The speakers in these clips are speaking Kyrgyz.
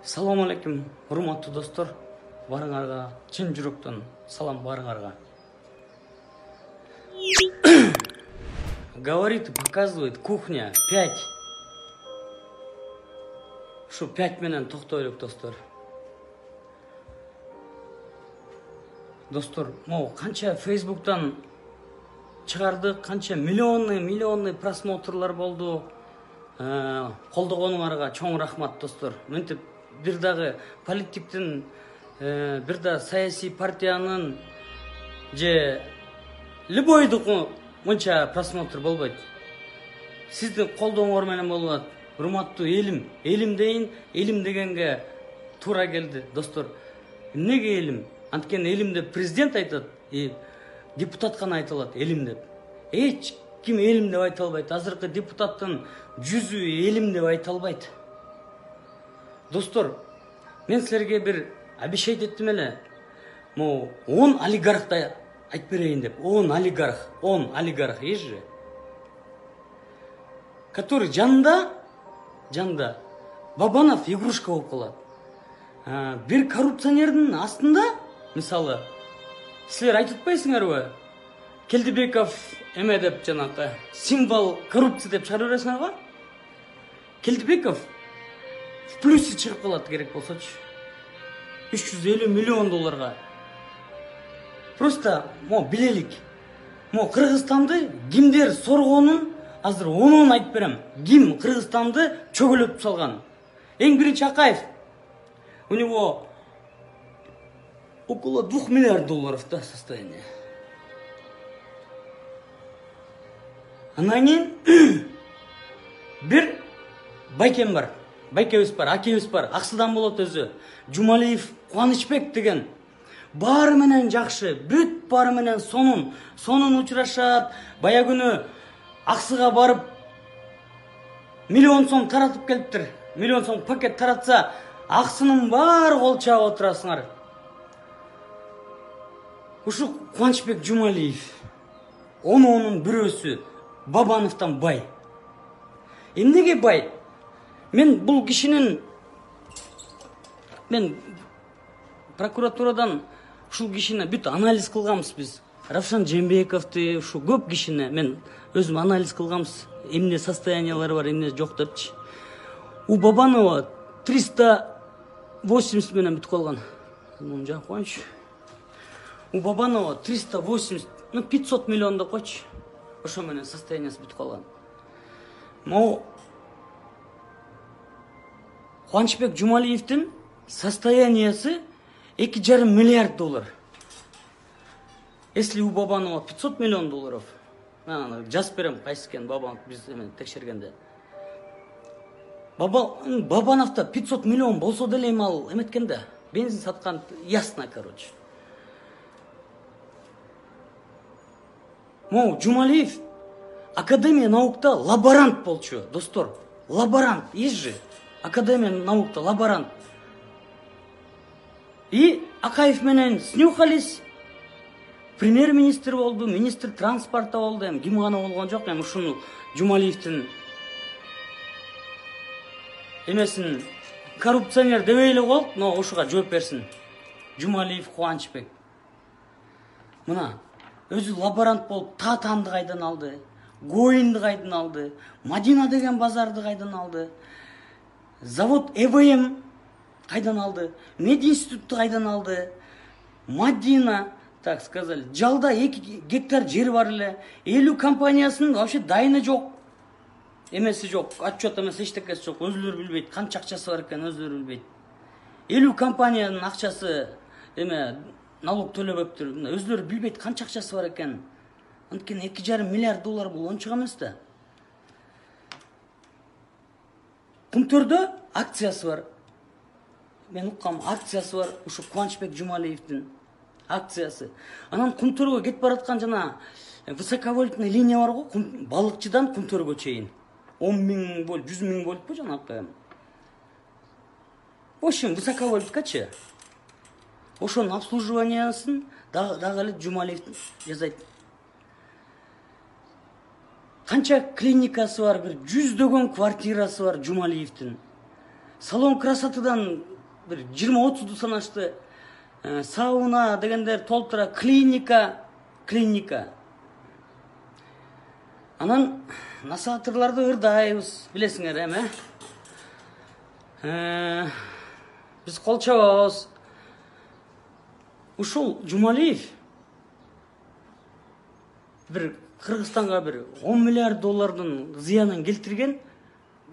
Салам алейкум, урматтуу достор. Барыңарга чын жүрөктөн салам барыңарга. Говорит и показывает кухня 5. Ушу 5 менен токтойлук, достор. Достор, могу канча Facebook'тан чыгардык, канча миллионный просмотрлар болду. Колдогонуңарга чоң рахмат, достор. Мынтип бир дагы политиктин, бир да саясий партиянын же любойдук мынча просмотр болбойт. Сиздин колдооңор менен болот. Урматтуу элим, элим дейин, элим дегенге туура келди, достор. Эмнеге элим? Анткени элим деп президент айтат, депутат гана айта алат элим деп. Эч ким элим деп айта албайт. Азыркы депутаттын жүзү элим деп айта албайт. Достор, мен силерге бир обещать эттим эле. Могу 10 олигархты айтып берейин деп. 10 олигарх ежи. Который жанында Бабанов игрушка болуп калат. Бир коррупционердин астында, мисалы, силер айтып атпайсыңарбы? Келдибеков эме деп жанакы символ коррупции деп чыгарып бересиңерби? Келдибеков в плюсе чыгып калат керек болсочу. 350 миллион долларга. Просто билелик. Кыргызстанды кимдер соргонун азыр онун айтып берем. Ким Кыргызстанды чөгөлөтүп салган? Эң биринчи Акаев. У него около 2 миллиард долларов состояние. Анан кийин бир байкем бар. Байкебиз бар, акебиз бар. Аксыдан болот өзү. Жумалиев Кубанычбек деген. Баары менен жакшы, бүт баары менен сонун учурашат. Бая күнү Аксыга барып миллион сом таратып келиптир. Миллион сом пакет таратса, Аксынын баары кол чаап отурасыңар. Ушу Кубанычбек Жумалиев. Онун бирөөсү Бабановтан бай. Эмнеге бай? Мен бул кишинин прокуратурадан ушул кишини бүт анализ кылганбыз биз. Равшан Жээнбековду, ушу көп кишини мен өзүм анализ кылганбыз. Эмне состояниялары бар, эмне жок депчи. У Бабанова 380 менен бүтүп калган. Муну жакып коюнчу. У Бабанова 380, 500 миллион деп койчу. Ошо менен состояниясы бүтүп калган. Кубанычбек Жумалиевдин состояниясы 2,5 миллиард доллар. Если у Бабанова 500 миллион долларов, жазып берем кайсы экен Бабанов биз текшергенде. Бабановда 500 миллион болсо деле эми ал эметкенде, бензин саткан ясно, короче. Жумалиев Академия наукта лаборант болчу, достор. Лаборант, ежи. Академия наукта лаборант. И Акаев менен снюхались. Премьер-министр болду, министр транспорта болду. Ким гана болгон жок, ушуну Жумалиевдин эмесин коррупционер дебей эле коелук, но ушуга жооп берсин. Жумалиев Кубанычбек. Мына өзү лаборант болуп Татанды кайдан алды, Гоинди кайдан алды, Мадина деген базарды кайдан алды, завод ЭВМ кайдан алды, мединститутту кайдан алды, Мадина, так сказали, жалда 2 гектар жери бар эле, 50 компаниясынын вообще дайыны жок, эмеси жок, отчет эмес эчтекеси жок, өзүлөрү билбейт, канча акчасы бар экен өзүлөрү билбейт. 50 компаниянын акчасы налог төлөбөптүр, өзүлөрү билбейт канча акчасы бар экен. Анткени 2,5 миллиард доллар бул ончук эмес да. Кумтөрдө акциясы бар. Мен уккам, акциясы бар, ушу Кубанычбек Жумалиевдин акциясы. Анан Кумтөргө кетип бараткан жана высоковольтный линия бар го, балыкчыдан Кумтөргө чейин. 10 миң вольт, 100 миң вольтпу жанакы. В общем, высоковольткачы. Ошонун обслуживаниясын дагы эле Жумалиев жасайт. Канча клиникасы бар, бир 100дөгөн квартирасы бар Жумалиевдин. Салон красотадан бир 20-30 санашты. Сауна дегендер толтура, клиника. Анан насаатырларды ырдайбыз, билесиңер эми. Биз кол чабабыз. Ушул Жумалиев бир Кыргызстанга бир 10 миллиард доллардын зыянын келтирген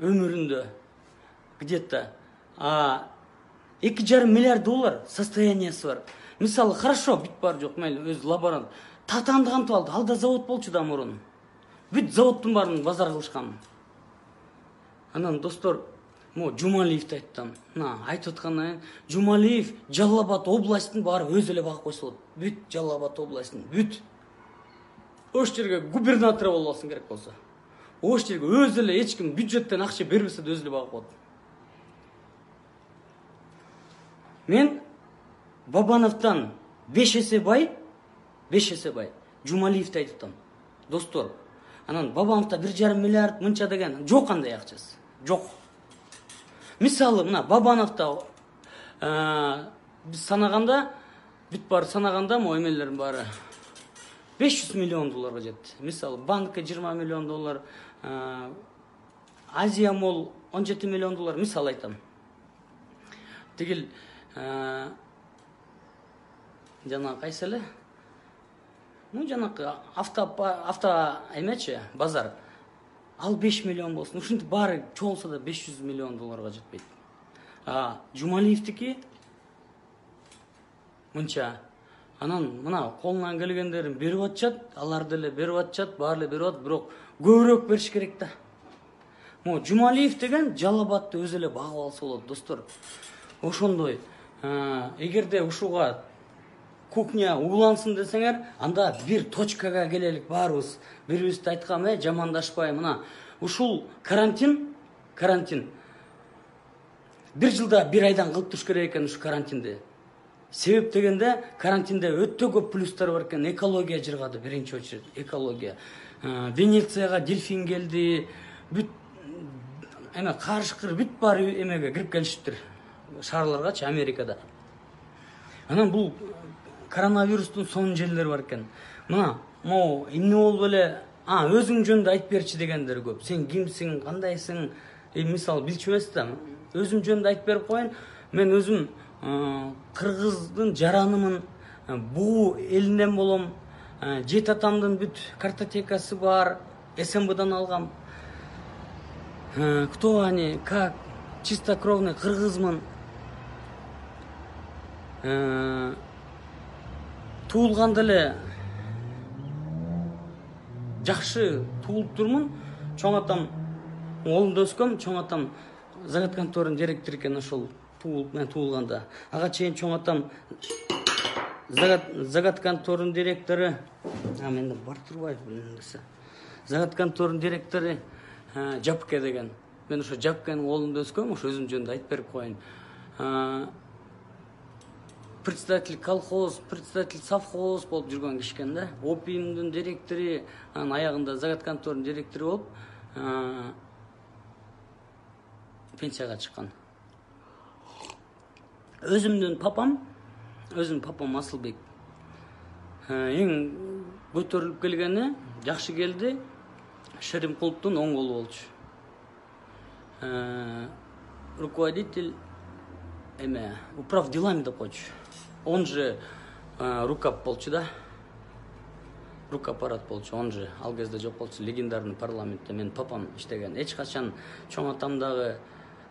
өмүрүндө. Где-то 2,5 миллиард доллар состояниясы бар. Мисалы, хорошо, бүт бар жок, мейли өз лаборант. Татанды кантип алды? Алда завод болчу да мурун. Бүт заводдун баарын базар кылышкан. Анан достор, Жумалиевди айттым. Айтып аткандан Жумалиев Жалал Абад областын баары өз эле багып койсо болот. Бүт Жалал Абад областын, бүт. Ош жерге губернатор болбосун керек болсо. Ош жерге өз эле эч ким бюджеттен акча бербесе да өз эле багып коет. Мен Бабановдон 5 эсе бай Жумалиевди айтып атам. Достор, анан Бабановдо 1,5 миллиард мынча деген жок, андай акчасы. Жок. Мисалы, мына Бабановдо биз санаганда, бүт бар санаганда эмелердин баары 500 миллион долларга жетти. Мисалы, банкка 20 миллион доллар, Азия Мол 17 миллион доллар, мисал айтам. Тигил жана кайсы эле? Жанакы авто эмечи, базар. Ал 5 миллион болсун. Ушинтип баары чоңсо да 500 миллион долларга жетпейт. Жумалиевдики мынча. Анан мына колунан келгендерин берип атышат, алар деле берип атышат, баары эле берип атат, бирок көбүрөөк бериш керек да. Жумалиев деген Жалал Абадты өз эле багып алса болот, достор. Ошондой. Эгерде ушуга кухня улансын десеңер, анда бир точкага келелик баарыбыз. Бири-бирибизди айткам, жамандашпай, мына ушул карантин бир жылда бир айдан кылып туруш керек экен ушу карантинди. Себеп дегенде карантинде өтө көп плюстар бар экен. Экология жыргады, биринчи очередь, экология. Венецияга дельфин келди, бүт карышкыр бүт бар эмеге кирип келишиптир. Шаарларгачы, Америкада. Анан бул коронавирустун сонун жерлери бар экен. Мына, эмне болуп эле, өзүң жөнүндө айтып берчи дегендер көп. Сен кимсиң, кандайсың? Мисалы, билчү эмес да. Өзүм жөнүндө айтып берип коеюн. Мен өзүм Кыргыздын жаранымын, буу элинен болом. Жет атамдын бүт картотекасы бар, СМБдан алгам. Кто они, как, чистокровный кыргызмын. Туулганда эле жакшы туулуп турмун. Чоң атам Оолунда өскөм, чоң атам заготконторунун директору экен, ошол туулганда. Ага чейин чоң атам заготконторунун директору, менде бар турбайбы билсе. Заготконторунун директору Жапке деген. Мен ошо Жапкенин оолунда өскөм, ошо өзүм жөнүндө айтып берип коеюн. Председатель колхоз, председатель совхоз болуп жүргөн киши экен да. Опимдин директору, анын аягында заготконторунун директору болуп пенсияга чыккан. Өзүмдүн папам Асылбек. Эң көтөрүлүп келгени, жакшы келди. Шеримкуловдун оң колу болчу. Руководитель управ делами деп койчу. Он же рукап болчу да. Рукапарат болчу, он же ал кезде жок болчу, легендарный парламентте менин папам иштеген. Эч качан чоң атамдагы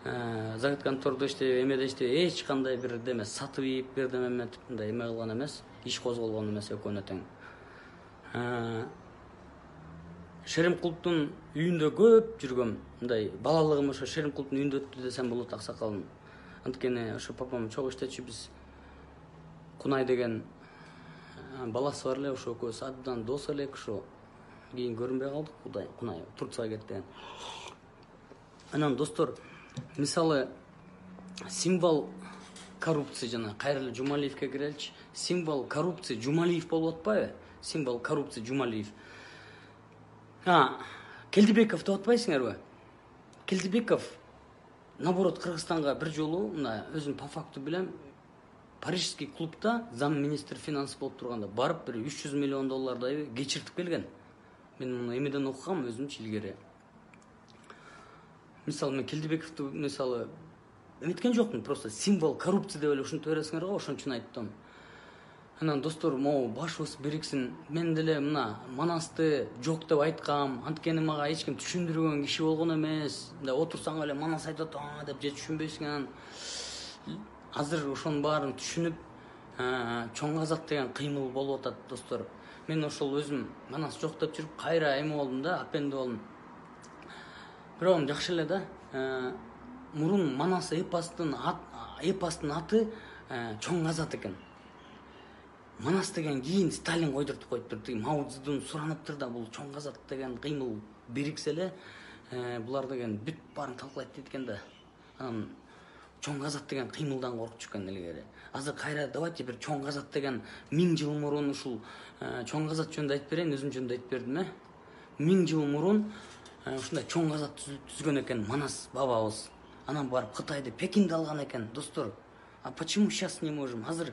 заготконтордо иштеп, эмеде иштеп, эч кандай бир деме сатып ийип бердим эметип мындай эме кылган эмес, иш козголгон эмес экөөнө тең. Шеримкуловдун үйүндө көп жүргөм. Мындай балалыгым ошо Шеримкуловдун үйүндө өттү десем болот, аксакалым. Анткени ошо папам чогуу иштечү, биз Кунай деген баласы бар эле, ошо экөөбүз абдан дос элек, ошо кийин көрүнбөй калдык. Кунай Турцияга кетти. Анан достор, мисалы символ коррупции жана кайра Жумалиевке киреличи. Символ коррупции Жумалиев болуп атпайбы? Символ коррупции Жумалиев. Келдибеков деп атпайсыңарбы? Келдибеков наоборот Кыргызстанга бир жолу мына өзүм по факту билем, парижский клубда зам министр финанс болуп турганда барып бир $300 миллион кечиртип келген. Мен муну эмеден окугам өзүмчү илгери. Мисалы мен Келдибековду мисалы эметкен жокмун, просто символ коррупция деп эле ушинтип бересиңер го, ошон үчүн айттым. Анан достор, могу башыбыз бириксин. Мен деле мына Манасты жок деп айткам, анткени мага эч ким түшүндүргөн киши болгон эмес. Мындай отурсаң эле Манас айтып атам деп же түшүнбөйсүң. Анан азыр ошонун баарын түшүнүп, чоң казак деген кыймыл болуп атат достор. Мен ошол өзүм Манас жок деп жүрүп кайра эме болдум да, апенди болдум. Бирок жакшы эле да. Мурун Манас эпостун аты чоң казак экен. Манас деген кийин Сталин койдуртуп коюптур. Мао Цзэдун сураныптыр да, бул чоң казак деген кыймыл бириксе эле булар деген бүт баарын талкалайт дейт экен да. Анан чоң казак деген кыймылдан коркчу экен илгери. Азыр кайра давайте бир чоң казак деген 1000 жыл мурун ушул чоң казак жөнүндө айтып берейин, өзүм жөнүндө айтып бердим. 1000 жыл мурун ушундай чоң казак түзгөн экен Манас бабабыз. Анан барып Кытайды, Пекинди алган экен, достор. А почему сейчас не можем? Азыр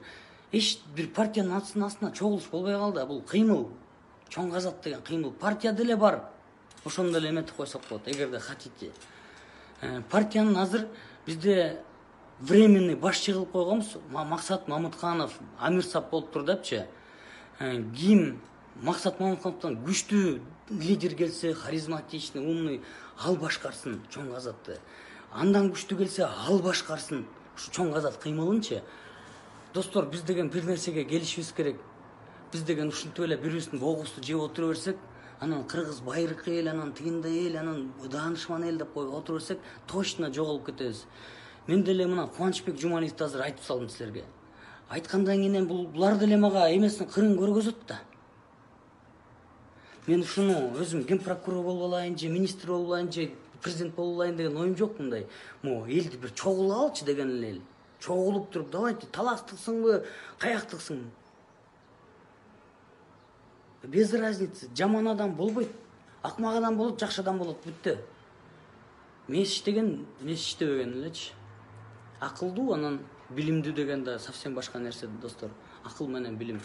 эч бир партиянын астына чогулуш болбой калды. Бул кыймыл, чоң казак деген кыймыл. Партия деле бар. Ошону деле эметип койсок болот, эгерде хотите. Партиянын азыр бизде временный башчы кылып койгонбуз. Максат Мамытканов, Амирсап болуп тур депчи. Ким Максат Мамыткановдон күчтүү лидер келсе, харизматичный, умный, ал башкарсын чоң казакты. Андан күчтүү келсе, ал башкарсын ушу чоң казак кыймылынчы. Достор, биз деген бир нерсеге келишибиз керек. Биз деген ушинтип эле бирибиздин боогубузду жеп отура берсек, анан кыргыз байыркы эл, анан тигиндей эл, анан даанышман эл деп коюп отура берсек, точно жоголуп кетебиз. Мен деле мына Кубанычбек Жумалиевди азыр айтып салдым силерге. Айткандан кийин булар деле мага эмесин кырын көргөзөт да. Мен ушуну өзүм генпрокурор болуп алайын, же министр болуп алайын, же президент болуп алайын деген оюм жок мындай. Элди бир чогулуп алчы деген эле. Чогулуп туруп, давайте таластыксыңбы, каяктыксың. Без разницы, жаман адам болбойт. Акмак адам болот, жакшы адам болот, бүттү. Мес иштеген, мес иштебеген элечи. Акылдуу, анан билимдүү деген да совсем башка нерсе, достор. Акыл менен билим.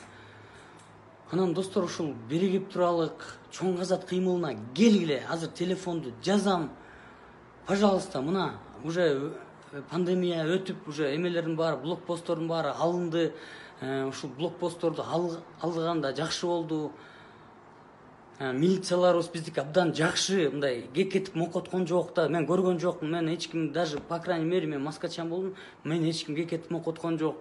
Анан достор, ушул биригип туралык, чоң казак кыймылына келгиле. Азыр телефонду жазам. Пожалуйста, мына уже пандемия өтүп, уже эмелердин баары, блокпосттордун баары алынды. Ушул блокпостторду алганда жакшы болду. Милицияларыбыз биздики абдан жакшы, мындай кекетип мокоткон жок да. Мен көргөн жокмун. Мен эч ким, даже по крайней мере мен маскачан болдум. Мен эч ким кекетип мокоткон жок.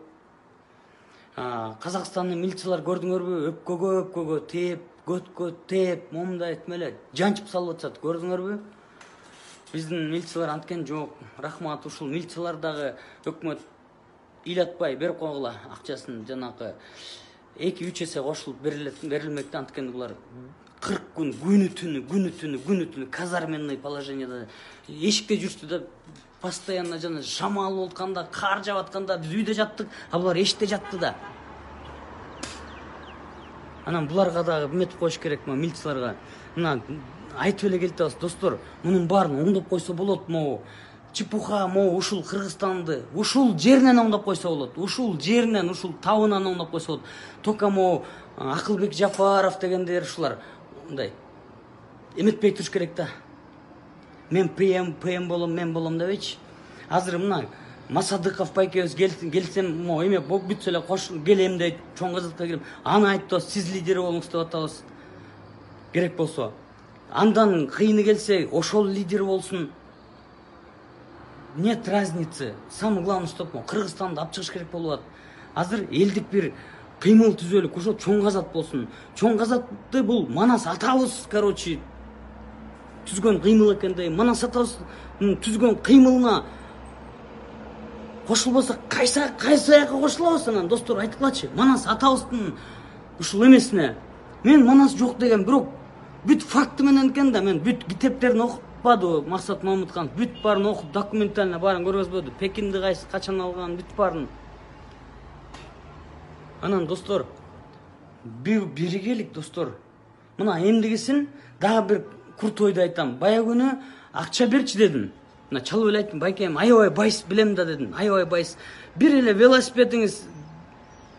Казакстандын милициялар көрдүңөрбү? Өпкөгө тээп, көткө тээп, момундай этмеле жанчып салып атышат. Көрдүңөрбү? Биздин милициялар анткен жок. Рахмат, ушул милициялар дагы өкмөт ыйлатпай берип койгула акчасын, жанакы 2-3 эсе кошулуп берилмекти. Анткени булар 40 күн күнү-түнү казарменный положенияда эшикте жүрчү да, постоянно жана шамал болуп атканда, кар жаап атканда биз үйдө жаттык, а булар эшикте жатты да. Анан буларга дагы эметип коюш керек, милицияларга. Мына айтып эле келип атабыз, достор, мунун баарын оңдоп койсо болот. Чепуха, ушул Кыргызстанды ушул жеринен оңдоп койсо болот. Ушул жеринен, ушул табынан оңдоп койсо болот. Тока Акылбек Жапаров дегендер ушулар мындай эметпей туруш керек да. Мен ПМ болом, мен болом дебейчи. Азыр мына Масадыков байкебиз келсем, эме болуп бүтсө эле келем дейт, чоң казакка келем. Аны айтып, сиз лидер болуңуз деп атабыз. Керек болсо. Андан кыйыны келсе, ошол лидер болсун. Нет разницы. Самое главное, чтобы Кыргызстанды алып чыгыш керек болуп атат. Азыр элдик бир кыймыл түзөлүк, ошо чоң казак болсун. Чоң казакты бул Манас атабыз, короче, түзгөн кыймыл экендей. Манас атабыз түзгөн кыймылына кошулбасак, кайсы аякка кошулабыз анан, достор, айткылачы. Манас атабыздын ушул эмесине. Мен Манас жок деген, бирок бүт факты менен экен да, мен бүт китептерин окуппадым. Максат Мамытканов бүт баарын окуп, документально баарын көргөзбөдү. Пекинди качан алган, бүт баарын. Анан, достор, биригелик, достор. Мына эмдигисин дагы бир курт ойду айтам. Бая күнү акча берчи дедим. мына чалып эле айттым, байкем, аябай байс билем да дедим, аябай байс. Бир эле велосипедиңиз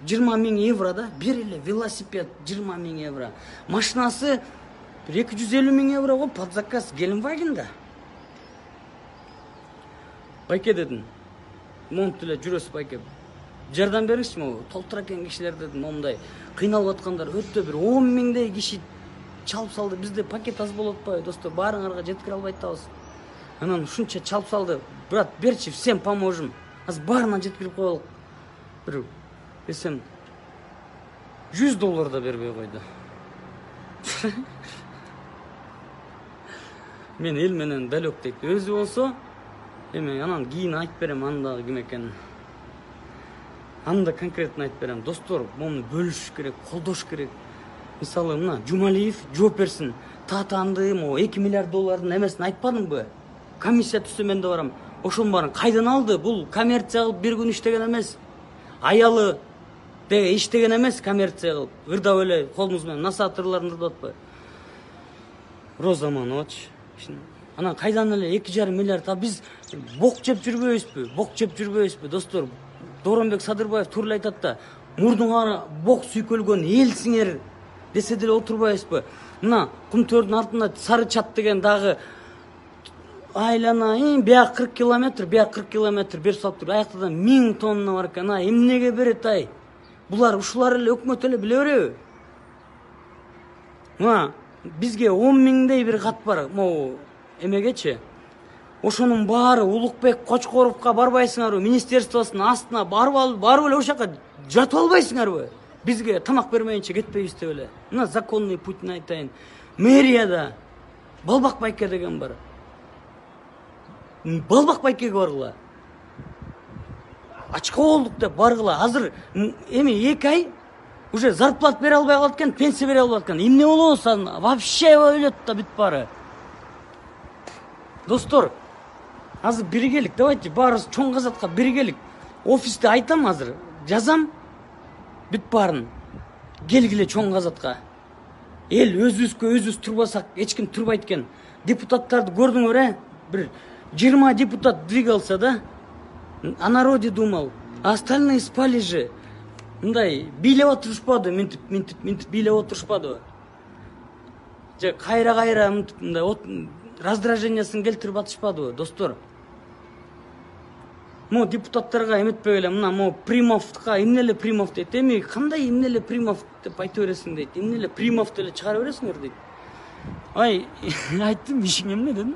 20 000 евро да, бир эле велосипед 20 000 евро. Машинасы 250 000 евро го под заказ Геленваген да. Байке дедим, монт эле жүрөсүз байке. Жардам бериңизчи, могу толтура экен кишилер дедим, момундай кыйналып аткандар өтө бир 10 000дей киши чалып салды. Бизде пакет аз болуп атпайбы, достор, баарыңарга жеткире албай атабыз. Анан ушунча чалып салды. Брат, берчи, всем поможем. Азыр баарына жеткирип коелук. Бир десем $100 да бербей койду. Мен эл менен далек дейт. Өзү болсо эме анан кийин айтып берем анда ким экенин. Анда конкретно айтып берем. Достор, муну бөлүш керек, колдош керек. Мисалы, мына Жумалиев жооп берсин. Татанды, могу $2 миллиард эмесин айтпадымбы? Комиссия түзсө мен да барам. Ошонун баарын кайдан алды? Бул коммерция кылып бир күн иштеген эмес. Аялы деге иштеген эмес, коммерция кылып. Ырдап эле колубуз менен насаатырларын ырдап атпайбы? Роза Манович. Анан кайдан эле 2,5 миллиард? Биз бок жеп жүрбөйбүзбү? Бок жеп жүрбөйбүзбү, достор? Дооронбек Садырбаев тууралуу айтат да, мурдуңар бок сүйкөлгөн элсиңер десе деле отурбайбызбы? Мына Кумтөрдүн артында Сары Чат деген дагы айлана, бияк 40 километр, бияк 40 километр берип салып тур. Аяктан 1000 тонна бар экен. Эмнеге берет ай? Булар ушулар эле өкмөт эле биле береби? Мына бизге 10 000дей бир кат бар. Могу эмегечи. Ошонун баары Улукбек Кочкоровго барбайсыңарбы? Министерствосунун астына барып эле ошол жака жатып албайсыңарбы? Бизге тамак бермейинче кетпейбиз деп эле. Мына законный путьни айтайын. Мэрияда Балбак байке деген бар. Балбак байкеге баргыла. Ачка болдук деп баргыла. Азыр эми 2 ай уже зарплат бере албай калат экен, пенсия бере албай калат экен. Эмне болобуз вообще өлөт да бүт баары. Достор, азыр биригелик, давайте баарыбыз чоң казатка биригелик. Офисте айтам азыр, жазам бүт баарын. Келгиле чоң казатка. Эл өзүбүз турбасак, эч ким турбайт экен. Депутаттарды көрдүңөр, бир 20 депутат двигался, да? О народе думал. А остальные спали же. Мындай бийлеп отурушпады, минтип бийлеп отурушпады. Же кайра мындай раздражениясын келтирип атышпадыбы, достор? Мо депутаттарга эметпей эле, мына мо Примовка эмне эле Примов дейт. Эми кандай эмне эле Примов деп айта бересиң дейт. Эмне эле Примов деле чыгара бересиңер дейт. Ай, айттым, ишиң эмне дедим?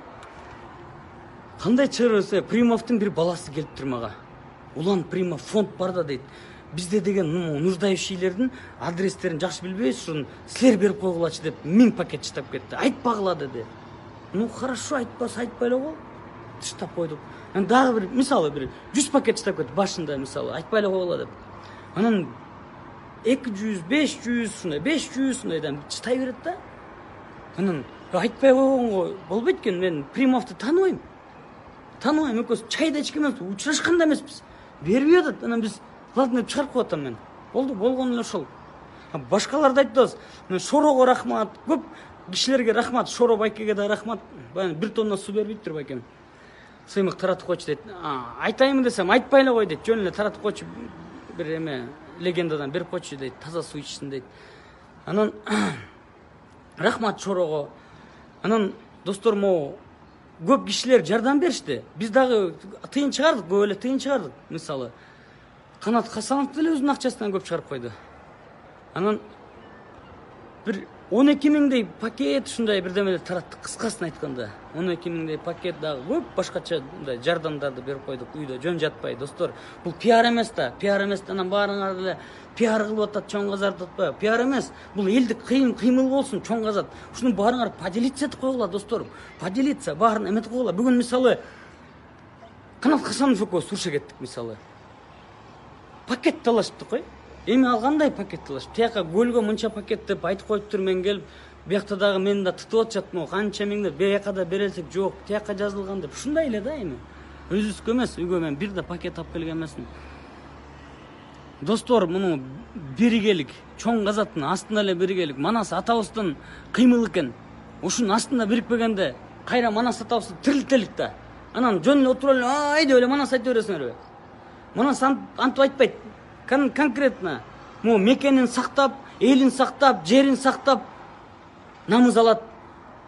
Кандай чыгара берсе, Примовдун бир баласы келип тур мага. Улан Примов фонд бар да дейт. Бизде деген нуждающийлердин адрестерин жакшы билбейбиз, ушун силер берип койгулачы деп 1000 пакет чытап кетти. Айтпагыла деди. Ну хорошо, айтпаса айтпай эле кой. Чытап койдук. Анан дагы бир, мисалы бир 100 пакет чытап кетти башында, мисалы, айтпай эле койгула деп. Анан 200, 500 ушундай, 500 ушундайдан чытай берет да. Анан айтпай койгонго болбойт экен, мен Примовду тааныбайм. Тааныбайм, экөөбүз чайда ичкен эмес, учурашкан да эмеспиз. Бербей атат, анан биз ладно деп чыгарып коет мен. Болду, болгон эле ошол. Башкаларды айтабыз. Шорого рахмат, көп кишилерге рахмат, Шоро байкеге да рахмат. Бир тонна суу бербейт байкем. Сыймык таратып койчу дейт. Айтайын десем, айтпай эле кой дейт. Жөн эле таратып койчу, бир эме легендадан берип койчу дейт, таза суу ичсин дейт. Анан рахмат Шорого. Анан достор, могу көп кишилер жардам беришти. Биз дагы тыйын чыгардык, көп эле тыйын чыгардык. Мисалы, Канат Хасанов деле өзүнүн акчасынан көп чыгарып койду. Анан бир 12 000дей пакет ушундай бирдемелер тараттык, кыскасын айтканда. 12 000дей пакет дагы көп башкача мындай жардамдарды берип койдук. Үйдө жөн жатпай, достор. Бул пиар эмес да, пиар эмес. Анан баарыңар эле пиар кылып атат, чоң казат атпайбы? Пиар эмес. Бул элдик кыймыл болсун, чоң казат. Ушуну баарыңар поделиться этип койгула, достор. Поделиться, баарын эметип койгула. Бүгүн мисалы Канат Хасанов экөөбүз сурша кеттик, мисалы. Пакет талашыптык кой. Эми ал кандай пакет талаш? Тияка көлгө мынча пакет деп айтып коюптур, мен келип, биякта дагы мени да тытып атышат, могу канча миңдер, бияка да берелсек жок, тияка жазылган деп. Ушундай эле да эми. Өзүбүзгө эмес, үйгө мен бир да пакет алып келген эмесмин. Достор, муну биригелик, чоң казаттын астында эле биригелик. Манас атабыздын кыймыл экен. Ушунун астында бирикпегенде кайра Манас атабызды тирилтелик да. Анан жөн эле отуруп эле ай деп эле манас айта бересиңерби? Манас антип айтпайт. Конкретно могу мекенин сактап, элин сактап, жерин сактап намыз алат.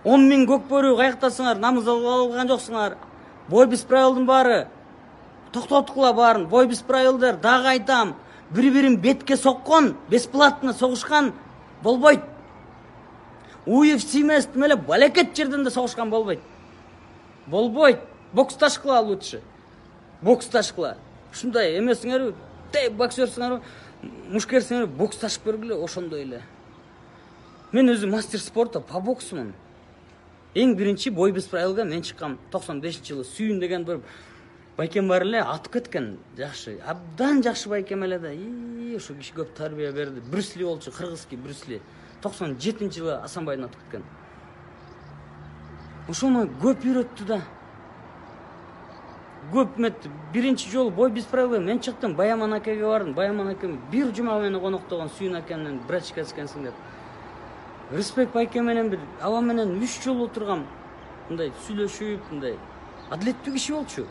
10 000 көк бөрү каяктасыңар, намыз алган жоксуңар. Бой без правилдын баары токтоткула баарын. Бой без правилдер, дагы айтам, бири-бирин бетке соккон, бесплатно согушкан болбойт. UFC эмес, тим эле балекет жерден да согушкан болбойт. Болбойт. Боксташкыла лучше. Боксташкыла. Ушундай эмесиңерби? Боксерсиңерби? Мушкерсиңерби? Боксташып көргүлө, ошондой эле. Мен өзүм мастер спорта по боксумун. Эң биринчи бой без правилга мен чыккам 95-жылы. Сүйүн деген бир байкем бар эле, атып кеткен. Жакшы, абдан жакшы байкем эле да. Ошо киши көп тарбия берди. Брюс Ли болчу, кыргызский Брюс Ли. 97-жылы Асанбайдан атып кеткен. Ошону көп үйрөттү да. Көп мет биринчи жолу бой без правил мен чыктым. Баяман акеге бардым. Баяман акем бир жума мени коноктогон, Сүйүн акемден брачка экенсиң деп. Респект байке менен бир аба менен 3 жол отургам. Мындай сүйлөшүп, мындай адилеттүү киши болчу.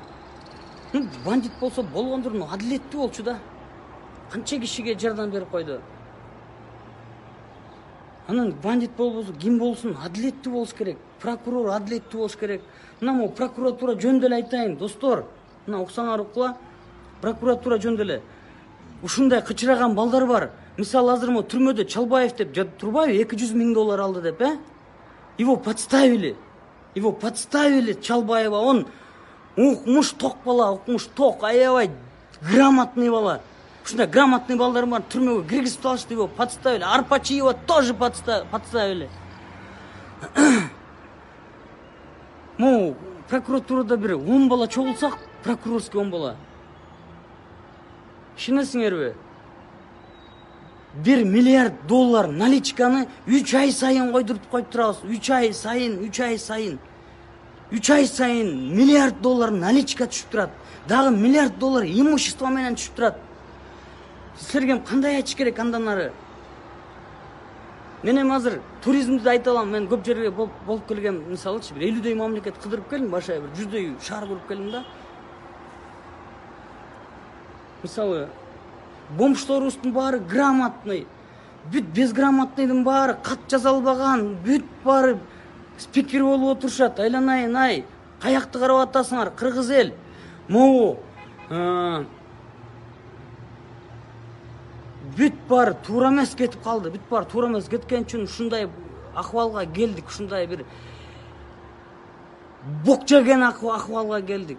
Бандит болсо болгондур, но адилеттүү болчу да. Канча кишиге жардам берип койду. Анан бандит болбосо ким болсун, адилеттүү болуш керек. Прокурор адилеттүү болуш керек. Мына могу прокуратура жөнүндө эле айтайын, достор. Мына уксаңар укла. Прокуратура жөнүндө эле ушундай кычыраган балдар бар. Мисалы азыр мо түрмөдө Чалбаев деп жатып турбайбы? 200 000 доллар алды деп, Его подставили. Чалбаева. Он укмуш ток бала, укмуш ток, аябай грамотный бала. Ушундай грамотный балдар бар, түрмөгө киргизип алышты, его подставили. Арпачиева тоже подставили. Мо прокуратурада бир 10 бала чогулсак, прокурорский 10 бала. Ишенесиңерби? 1 миллиард доллар наличканы 3 ай сайын койдуруп коюп турабыз. 3 ай сайын. 3 ай сайын миллиард доллар наличка түшүп турат. Дагы миллиард доллар имущество менен түшүп турат. Силерге кандай айтыш керек андан ары? Мен эми азыр туризмди айта алам. Мен көп жерге болуп келгем, мисалычы, бир 50дөй мамлекет кыдырып келдим, башка бир 100дөй шаар көрүп келдим да. Мисалы, бомжторубуздун баары грамотный. Бүт безграмотныйдын баары кат жаза албаган, бүт баары спикер болуп отурушат. Айланайын ай, каякты карап атасыңар, кыргыз эл. Могу бүт баары туура эмес кетип калды. Бүт баары туура эмес кеткен үчүн ушундай акыбалга келдик, ушундай бир бок жеген акыбалга келдик.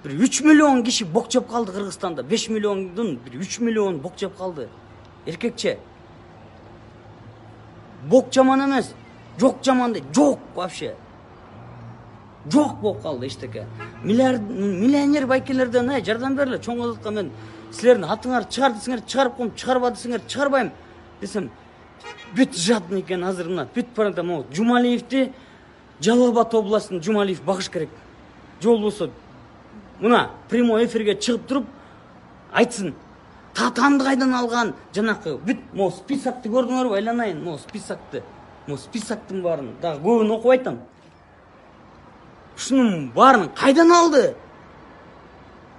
Бир 3 миллион киши бок жеп калды Кыргызстанда. 5 миллиондун бир 3 миллион бок жеп калды. Эркекче. Бок жаман эмес. Жок жаман дейт. Жок вообще. Жок болуп калды эчтеке. Миллионер байкелерден жардам бергиле. Чоңгозутка мен силердин атыңарды чыгар десеңер чыгарып коем, чыгарба десеңер чыгарбайм десем, бүт жадный экен азыр мына. Бүт барада могу Жумалиевди Жалал Абад областын Жумалиев багыш керек. Жол болсо мына прямой эфирге чыгып туруп айтсын. Татанды кайдан алган? Жанакы бүт могу списокты көрдүңөрбү? Айланайын, могу списокты. Могу списоктун баарын дагы көбүн окуп айтам. Ушунун баарын кайдан алды?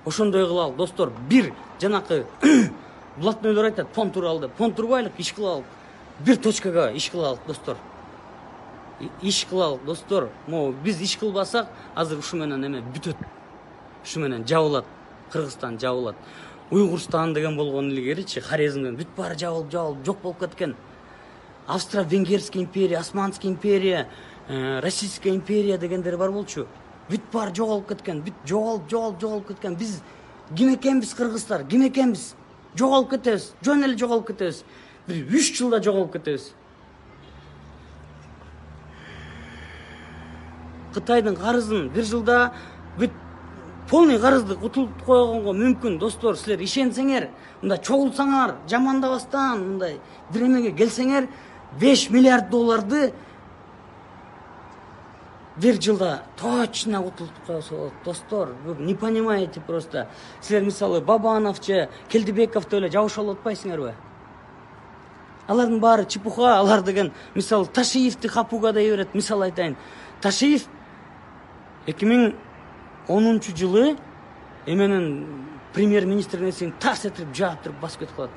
Ошондой кылалы, достор. Бир жанакы блатнойлор айтат, понтур алды. Понтурбайлык иш кылалы. Бир точкага иш кылалы, достор. Иш кылалы, достор. Могу биз иш кылбасак, азыр ушу менен эме бүтөт. Ушу менен жабылат. Кыргызстан жабылат. Уйгурстан деген болгон илгеричи, Хорезмден бүт баары жабылып жок болуп кеткен. Австро-Венгерская империя, Османская империя, Российская империя дегендер бар болчу. Бүт баары жоголуп кеткен, бүт жоголуп кеткен. Биз ким экенбиз кыргыздар? Ким экенбиз? Жоголуп кетебиз, жөн эле жоголуп кетебиз. Бир 3 жылда жоголуп кетебиз. Кытайдын карызын бир жылда бүт полный карызды утулуп койгонго мүмкүн, достор. Силер ишенсеңер, мында чогулсаңар, жамандабастан, мындай бир эмеге келсеңер, 5 миллиард долларды бир жылда точно утулуп койсо болот, достор. Вы не понимаете просто. Силер мисалы Бабановча, Келдибековду эле жабыша алып атпайсыңарбы? Алардын баары чепуха, алар деген мисалы Ташиевди капууга дей берет. Мисал айтайын. Ташиев 2010-жылы эменин премьер-министр нерсени тарс этирип жаап туруп басып кетип калат.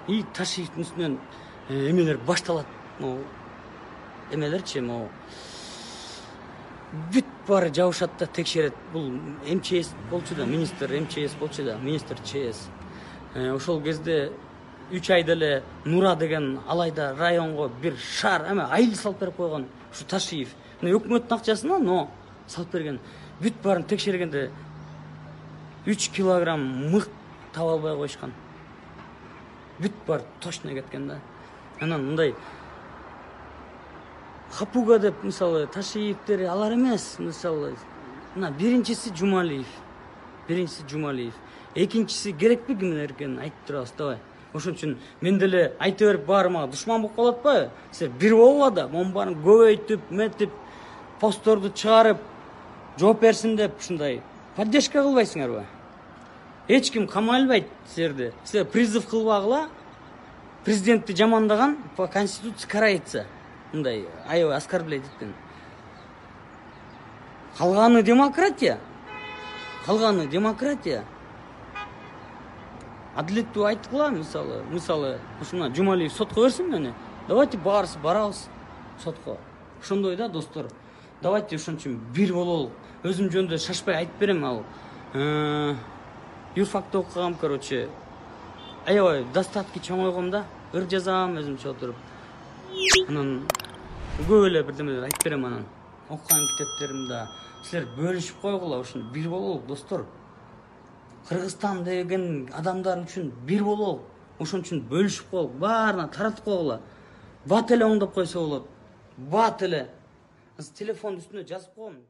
И Ташиевдин үстүнөн эмелер башталат. Могу эмелерчи, могу бүт баары жабышат да текшерет. Бул МЧС болчу да, министр МЧС болчу да, министр ЧС. Ошол кезде 3 айда эле Нура деген алайда районго бир шаар айыл салып берип койгон ушу Ташиев. Өкмөттүн акчасына, но салып берген. Бүт баарын текшергенде 3 килограмм мык таба албай коюшкан. Бүт баары точно кеткен да. Анан мындай Хапуга деп мисалы Ташиевдер алар эмес. Мисалы мына биринчиси Жумалиев. Экинчиси керекпи кимдер экенин айтып турабыз давай. Ошон үчүн мен деле айта берип баарыма душман болуп калып атпайбы? Силер бир болгула да, монун баарын көбөйтүп, метип, постторду чыгарып, жооп берсин деп ушундай поддержка кылбайсыңарбы? Эч ким камай албайт силерди. Силер призыв кылбагыла. Президентти жамандаган по конституции карается. Мындай аябай оскорблять эткен. Калганы демократия. Адилеттүү айткыла, мисалы ушуна Жумалиев сотко берсин мени. Давайте баарыбыз барабыз сотко. Ошондой да, достор. Давайте ошон үчүн бир бололу. Өзүм жөнүндө шашпай айтып берем, ал юрфакты окугам, короче. Аябай достатки чоңойгом да. Ыр жазам өзүмчө отуруп. Анан көп эле бирдемелер айтып берем анан. Окуган китептеримде силер бөлүшүп койгула, ошону бир бололу, достор. Кыргызстан деген адамдар үчүн бир бололу. Ошон үчүн бөлүшүп коелу, баарына таратып койгула. Бат эле оңдоп койсо болот. Бат эле. Телефондун үстүнө жазып коем.